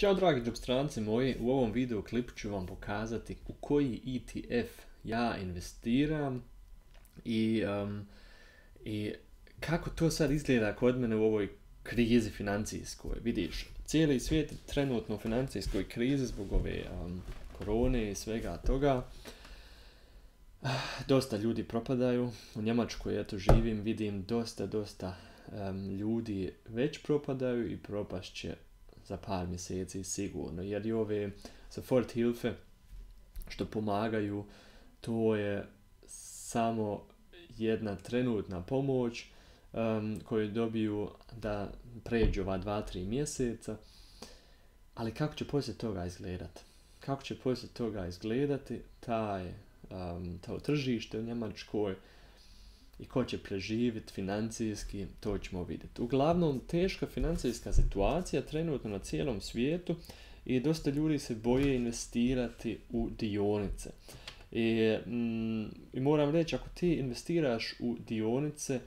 Ćao dragi džobstranci moji, u ovom video klipu ću vam pokazati u koji ETF ja investiram i kako to sad izgleda kod mene u ovoj krizi financijskoj. Vidiš, cijeli svijet je trenutno u financijskoj krizi zbog ove korone i svega toga. Dosta ljudi propadaju, u Njemačkoj eto živim, vidim dosta ljudi već propadaju i propašće za par mjeseci sigurno, jer i ove Soforthilfe što pomagaju, to je samo jedna trenutna pomoć koju dobiju da pređu ova 2-3 mjeseca, ali kako će poslije toga izgledati? Kako će poslije toga izgledati to tržište u Njemačkoj i ko će preživjeti financijski, to ćemo vidjeti. Uglavnom, teška financijska situacija trenutno na cijelom svijetu i dosta ljudi se boje investirati u dionice. I moram reći, ako ti investiraš u dionice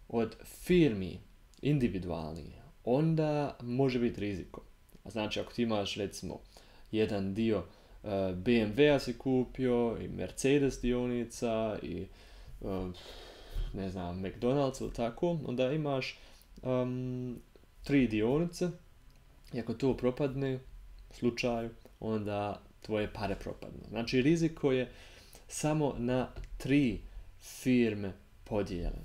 od firmi individualnih, onda može biti riziko. Znači, ako ti imaš recimo jedan dio BMW-a si kupio i Mercedes dionica i ne znam, McDonald's ili tako, onda imaš 3 dionice i ako to propadne slučaju, onda tvoje pare propadnu. Znači riziko je samo na 3 firme podijeljen.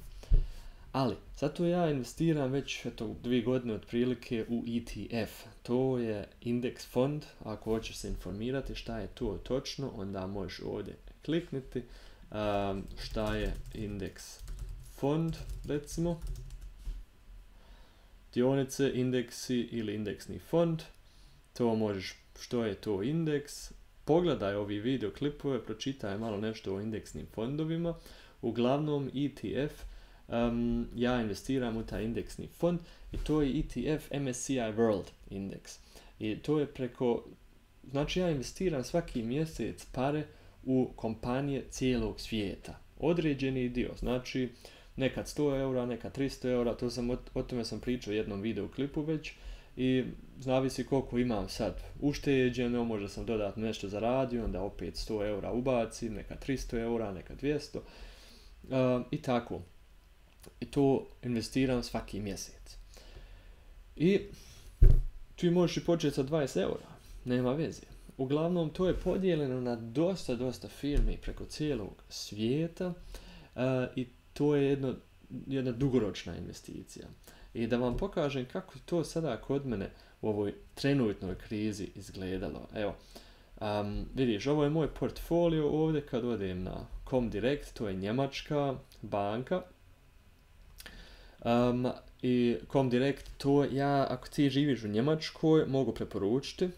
Ali, zato ja investiram već 2 godine otprilike u ETF. To je indeks fond. Ako hoćeš se informirati šta je to točno, onda možeš ovdje kliknuti šta je indeks fond, recimo. Dionice, indeksi ili indeksni fond. To možeš, što je to indeks. Pogledaj ovi video klipove, pročitaj malo nešto o indeksnim fondovima. Uglavnom ETF, ja investiram u taj indeksni fond i to je ETF MSCI World Index. I to je znači ja investiram svaki mjesec pare u kompanije cijelog svijeta. Određeni dio, znači nekad 100 eura, nekad 300 eura, o tome sam pričao u jednom video klipu već i zavisi koliko imam sad ušteđeno, možda sam dodatno nešto zaradio, onda opet 100 eura ubacim, nekad 300 eura, nekad 200 i tako. I to investiram svaki mjesec. I ti možeš i početi sa 20 eura, nema veze. Uglavnom, to je podijeljeno na dosta firmi preko cijelog svijeta i to je jedna dugoročna investicija. I da vam pokažem kako to sada kod mene u ovoj trenutnoj krizi izgledalo. Evo, vidiš, ovo je moj portfolio ovdje kad odem na Comdirect, to je njemačka banka. I Comdirect, to ja, ako ti živiš u Njemačkoj, mogu preporučiti.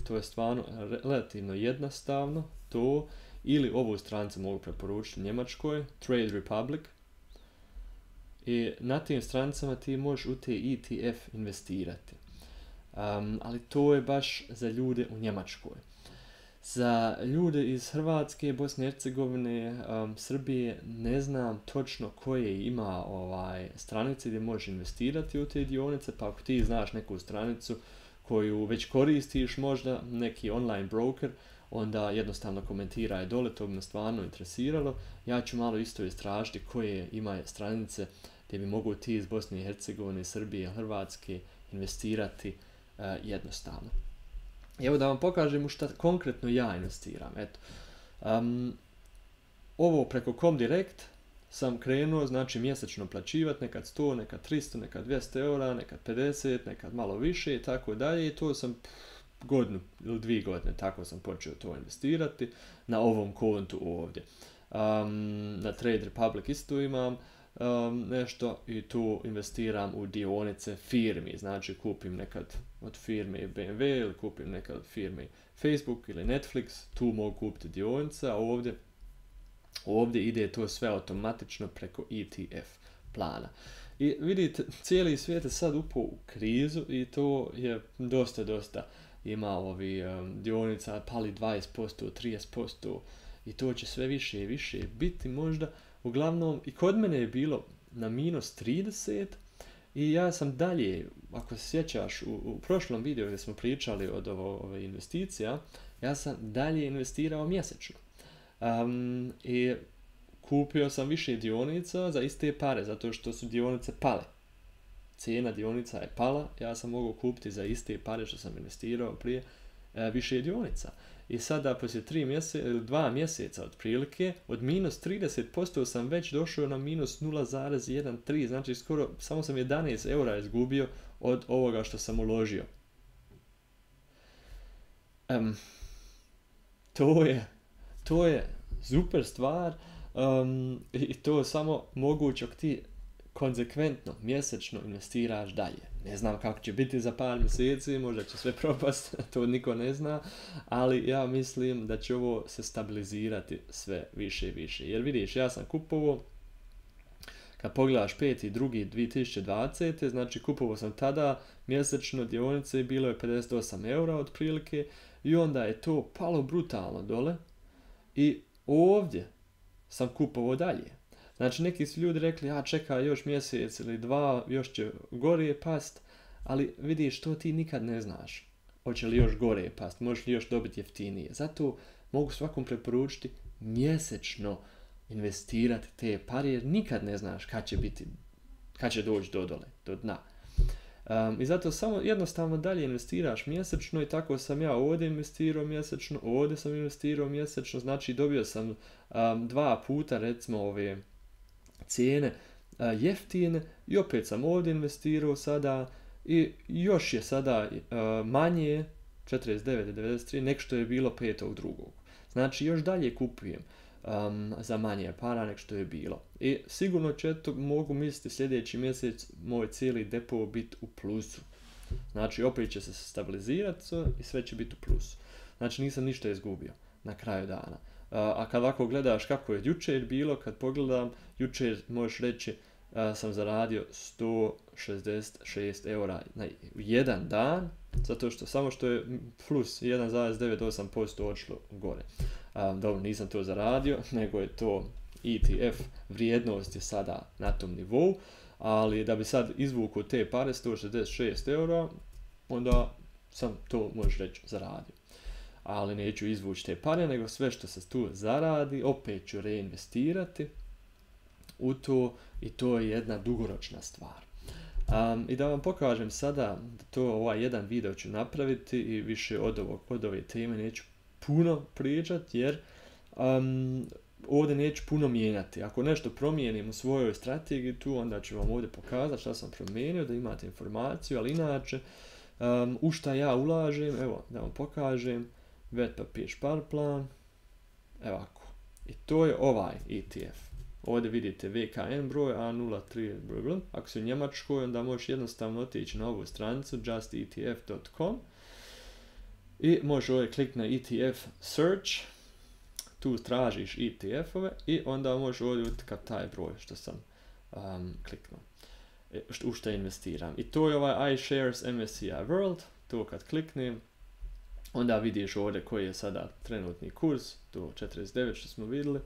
To je stvarno relativno jednostavno, to, ili ovu stranicu mogu preporučiti u Njemačkoj, Trade Republic. I na tim stranicama ti možeš u te ETF investirati. Ali to je baš za ljude u Njemačkoj. Za ljude iz Hrvatske, Bosne i Hercegovine, Srbije, ne znam točno koje ima stranice gdje možeš investirati u te dionice, pa ako ti znaš neku stranicu koju već koristiš, možda neki online broker, onda jednostavno komentiraj dole, to bi me stvarno interesiralo. Ja ću malo isto istražiti koje ima stranice gdje bi mogu ti iz Bosne i Hercegovine, Srbije, Hrvatske investirati jednostavno. Evo da vam pokažem u šta konkretno ja investiram. Eto. Ovo preko Comdirect sam krenuo, znači mjesečno plaćivati, nekad 100, nekad 300, nekad 200 eura, nekad 50, nekad malo više i tako dalje. I to sam godinu ili 2 godine, tako sam počeo to investirati na ovom kontu ovdje. Na Trade Republic isto imam nešto i tu investiram u dionice firmi. Znači kupim nekad od firme BMW ili kupim nekad od firme Facebook ili Netflix, tu mogu kupiti dionice, a ovdje ide to sve automatično preko ETF plana. I vidite, cijeli svijet je sad upao u krizu i to je dosta ima dionica pali 20%, 30% i to će sve više i više biti možda. Uglavnom, i kod mene je bilo na minus 30 I ja sam dalje, ako se sjećaš, u prošlom videu gdje smo pričali od ove investicija, ja sam dalje investirao mjesečno. I kupio sam više dionica za iste pare, zato što su dionice pale. Cijena dionica je pala, ja sam mogao kupiti za iste pare što sam investirao prije više dionica. I sada poslije 2 mjeseca otprilike, od minus 30% sam već došao na minus 0,13, znači skoro samo sam 11 eura izgubio od ovoga što sam uložio. To je super stvar i to je samo moguće ako ti konzekventno, mjesečno investiraš dalje. Ne znam kako će biti za par mjeseci, možda će sve propast, to niko ne zna, ali ja mislim da će ovo se stabilizirati sve više i više. Jer vidiš, ja sam kupovao, kad pogledaš 5.2.2020, znači kupovao sam tada mjesečno dionice, bilo je 58 eura otprilike i onda je to palo brutalno dole i ovdje sam kupovao dalje. Znači neki su ljudi rekli, čekaj još mjesec ili 2, još će gore past, ali vidiš, to ti nikad ne znaš. Hoće li još gore past, možeš li još dobiti jeftinije. Zato mogu svakom preporučiti mjesečno investirati te pare, jer nikad ne znaš kad će doći do dole, do dna. I zato samo jednostavno dalje investiraš mjesečno i tako sam ja ovdje investirao mjesečno, ovdje sam investirao mjesečno, znači dobio sam 2 puta recimo ove cijene jeftine i opet sam ovdje investirao sada i još je sada manje 49,93 nek što je bilo 5.2. Znači još dalje kupujem za manje para nek što je bilo. I sigurno će mogu misliti sljedeći mjesec moj cijeli depo biti u plusu. Znači opet će se stabilizirati i sve će biti u plusu. Znači nisam ništa izgubio na kraju dana. A kad ovako gledaš kako je jučer bilo, kad pogledam, jučer možeš reći sam zaradio 166 eura na jedan dan, zato što samo što je plus 1,98% odšlo gore. Dobro, nisam to zaradio, nego je to ETF, vrijednost je sada na tom nivou, ali da bi sad izvukao te pare, 166 eura, onda sam to, možeš reći, zaradio. Ali neću izvući te pare, nego sve što se tu zaradi, opet ću reinvestirati u to i to je jedna dugoročna stvar. I da vam pokažem sada, ovaj jedan video ću napraviti i više od ove teme neću puno pričati, jer ovdje neću puno mijenjati. Ako nešto promijenim u svojoj strategiji tu, onda ću vam ovdje pokazati šta sam promijenio, da imate informaciju, ali inače, u šta ja ulažem, evo, da vam pokažem, Vetpapir Sparplan, evo ovako. I to je ovaj ETF. Ovdje vidite VKN broj A03, ako si u Njemačkoj, onda možeš jednostavno otići na ovu stranicu justetf.com i možeš ovdje kliknuti na ETF Search, tu tražiš ETF-ove i onda možeš ovdje utkati taj broj što sam kliknuo, u što investiram. I to je ovaj iShares MSCI World, to kad kliknem, onda vidiš ovdje koji je sada trenutni kurs, to 49 što smo vidjeli,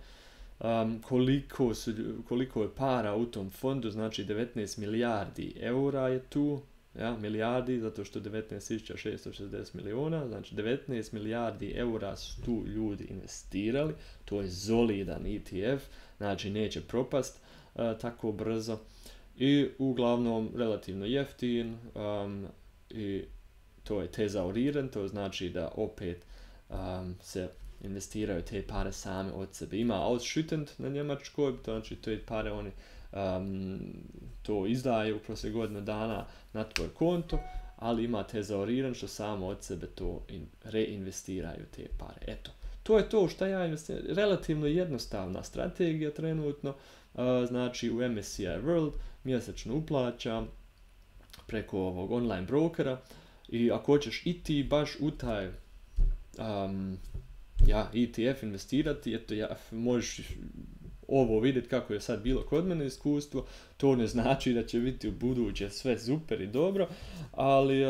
koliko je para u tom fondu, znači 19 milijardi eura je tu, ja, milijardi, zato što 19.660 milijuna, znači 19 milijardi eura su tu ljudi investirali, to je solidan ETF, znači neće propast tako brzo i uglavnom relativno jeftin i to je tezauriran, to znači da opet se investiraju te pare same od sebe. Ima ausschüttend na njemačkoj, to znači te pare oni to izdaju kroz godinu dana na tvoj konto, ali ima tezauriran što samo od sebe to reinvestiraju te pare. Eto, to je to što ja investiram. Relativno jednostavna strategija trenutno, znači u MSCI World mjesečno uplaćam preko ovog online brokera i ako hoćeš i ti baš u taj ETF investirati, eto možeš ovo vidjeti kako je sad bilo kod mene iskustvo, to ne znači da će biti u buduće sve super i dobro, ali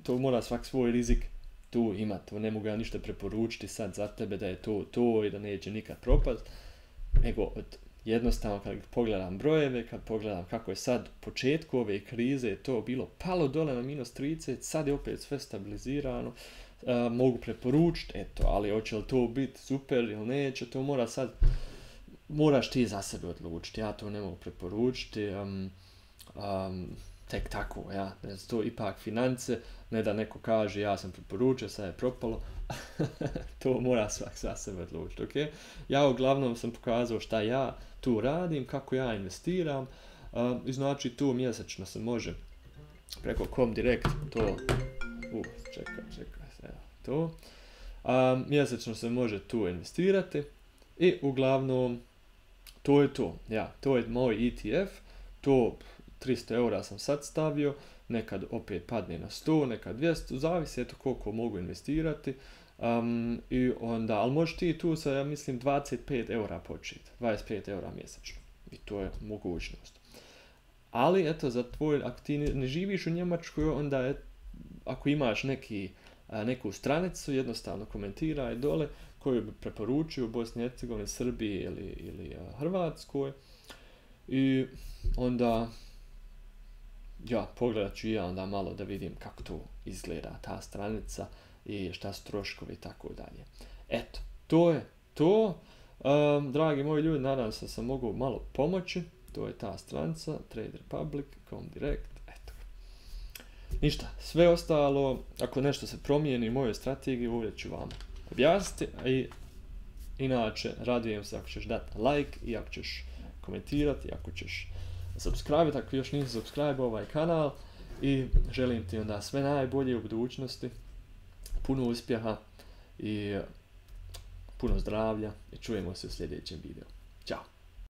to mora svak svoj rizik tu imati, to ne mogu ja ništa preporučiti sad za tebe da je to i da neće nikad propast, nego jednostavno kad pogledam brojeve, kad pogledam kako je sad u početku ove krize to bilo palo dole na -30, sad je opet sve stabilizirano, mogu preporučiti, eto, ali hoće li to biti super ili neće, to moraš ti za sebe odlučiti, ja to ne mogu preporučiti, tek tako, ja, to ipak finance, ne da neko kaže ja sam preporučio, sad je propalo, to mora svak za sebe odlučiti, ok? Ja uglavnom sam pokazao šta ja tu radim, kako ja investiram, i znači tu mjesečno se može preko Comdirect to, čekaj, evo to, mjesečno se može tu investirati i uglavnom to je to, ja, to je moj ETF, to 300 eura sam sad stavio, nekad opet padne na 100, nekad 200, zavisi eto koliko mogu investirati, i onda, ali možeš ti tu sa, ja mislim, 25 eura početi, 25 eura mjesečno, i to je mogućnost. Ali, eto, za tvoj, ako ti ne živiš u Njemačkoj, onda ako imaš neku stranicu, jednostavno komentiraj dole koju bi preporučio u Bosni i Hercegovini, Srbiji ili Hrvatskoj, i onda ja, pogledat ću ja onda malo da vidim kako to izgleda ta stranica i šta su troškovi i tako dalje. Eto, to je to. Dragi moji ljudi, nadam se da sam mogu malo pomoći. To je ta stranica, Trade Republic, Comdirect, eto. Ništa, sve ostalo, ako nešto se promijeni u mojoj strategiji, uvijek ću vam objasniti. I inače, radujem se ako ćeš dati like i ako ćeš komentirati, ako ćeš subscribe, ako još nisi subscribe ovaj kanal, i želim ti onda sve najbolje u budućnosti, puno uspjeha i puno zdravlja i čujemo se u sljedećem videu. Ćao!